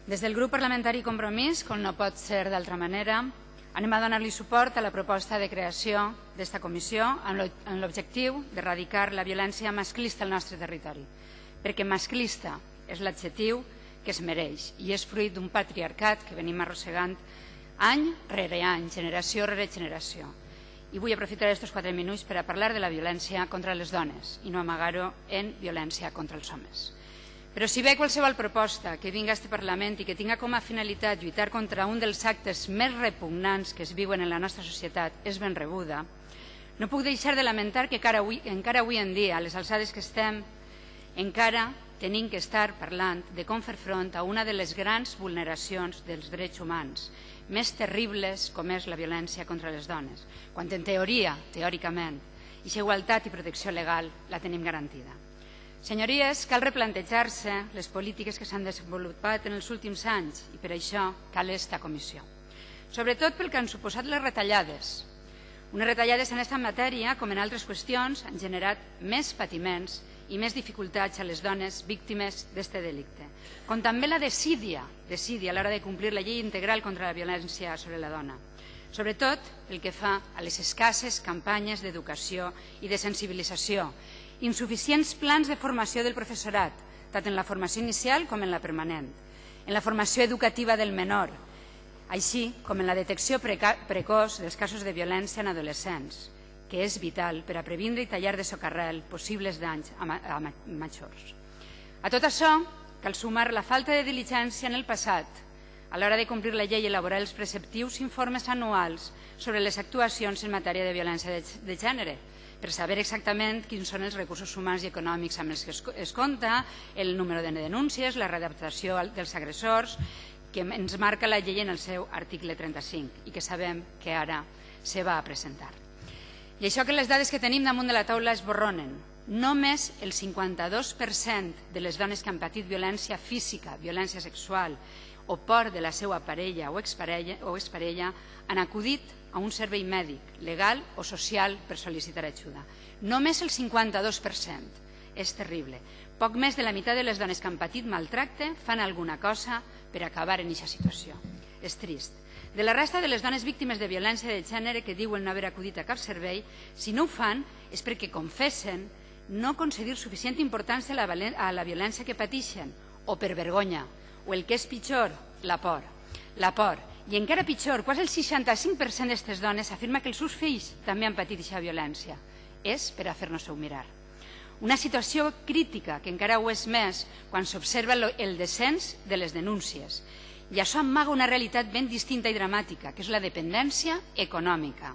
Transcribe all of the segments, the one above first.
Des del grup parlamentari Compromís, com no pot ser d'altra manera, anem a donar-li suport a la proposta de creació d'esta comissió amb l'objectiu d'erradicar la violència masclista al nostre territori, perquè masclista és l'adjectiu que es mereix i és fruit d'un patriarcat que venim arrossegant any rere any, generació rere generació. I vull aprofitar aquests 4 minuts per a parlar de la violència contra les dones i no amagar-ho en violència contra els homes. Però si bé qualsevol proposta que vingui a aquest Parlament i que tinga com a finalitat lluitar contra un dels actes més repugnants que es viuen en la nostra societat és ben rebuda, no puc deixar de lamentar que encara avui en dia, a les alçades que estem, encara tenim que estar parlant de com fer front a una de les grans vulneracions dels drets humans, més terribles com és la violència contra les dones, quan en teoria, teòricament, aquesta igualtat i protecció legal la tenim garantida. Senyories, cal replantejar-se les polítiques que s'han desenvolupat en els últims anys i per això cal esta comissió. Sobretot pel que han suposat les retallades. Unes retallades en aquesta matèria, com en altres qüestions, han generat més patiments i més dificultats a les dones víctimes d'aquest delicte, com també la desídia a l'hora de complir la llei integral contra la violència sobre la dona, sobretot pel que fa a les escasses campanyes d'educació i de sensibilització, insuficients plans de formació del professorat, tant en la formació inicial com en la permanent, en la formació educativa del menor, així com en la detecció precoç dels casos de violència en adolescents, que és vital per a previndre i tallar de socarrel possibles danys a majors. A tot això cal sumar la falta de diligència en el passat a l'hora de complir la llei i elaborar els preceptius informes anuals sobre les actuacions en matèria de violència de gènere, per saber exactament quins són els recursos humans i econòmics amb els que es compta, el número de denúncies, la readaptació dels agressors, que ens marca la llei en el seu article 35 i que sabem que ara se va a presentar. I això que les dades que tenim damunt de la taula es borronen. Només el 52% de les dones que han patit violència física, violència sexual o por de la seva parella o exparella han acudit a un servei mèdic, legal o social per sol·licitar ajuda. Només el 52%. És terrible. Poc més de la meitat de les dones que han patit maltracte fan alguna cosa per acabar en aquesta situació. És trist. De la resta de les dones víctimes de violència de gènere que diuen no haver acudit a cap servei, si no ho fan és perquè confessen no concedir suficient importància a la violència que pateixen o per vergonya, o el que és pitjor, la por. La por. I encara pitjor, quasi el 65% d'aquestes dones afirma que els seus fills també han patit aquesta violència. És per a fer-nos-ho mirar. Una situació crítica, que encara ho és més quan s'observa el descens de les denúncies. I això amaga una realitat ben distinta i dramàtica, que és la dependència econòmica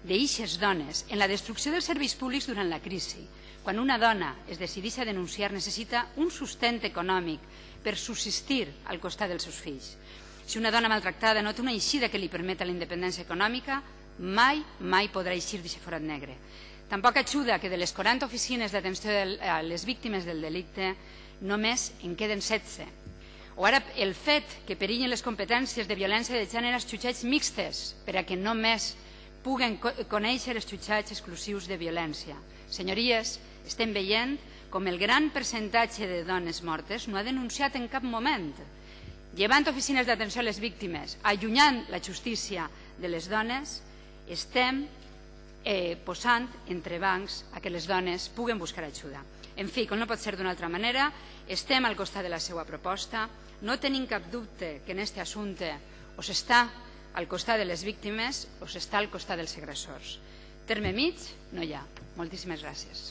d'eixes dones en la destrucció dels serveis públics durant la crisi. Quan una dona es decideix a denunciar necessita un sostén econòmic per subsistir al costat dels seus fills. Si una dona maltractada no té una eixida que li permeta la independència econòmica, mai podrà eixir d'aquest forat negre. Tampoc ajuda que de les 40 oficines d'atenció a les víctimes del delicte només en queden 16. O ara el fet que perillen les competències de violència de gènere als jutjats mixtes per a que només puguen conèixer els jutjats exclusius de violència. Senyories, estem veient com el gran percentatge de dones mortes no ha denunciat en cap moment. Llevant oficines d'atenció a les víctimes, allunyant la justícia de les dones, estem posant entrebancs a que les dones puguen buscar ajuda. En fi, com no pot ser d'una altra manera, estem al costat de la seva proposta, no tenim cap dubte que en aquest assumpte o s'està al costat de les víctimes o s'està al costat dels agressors. Terme mig no hi ha. Moltíssimes gràcies.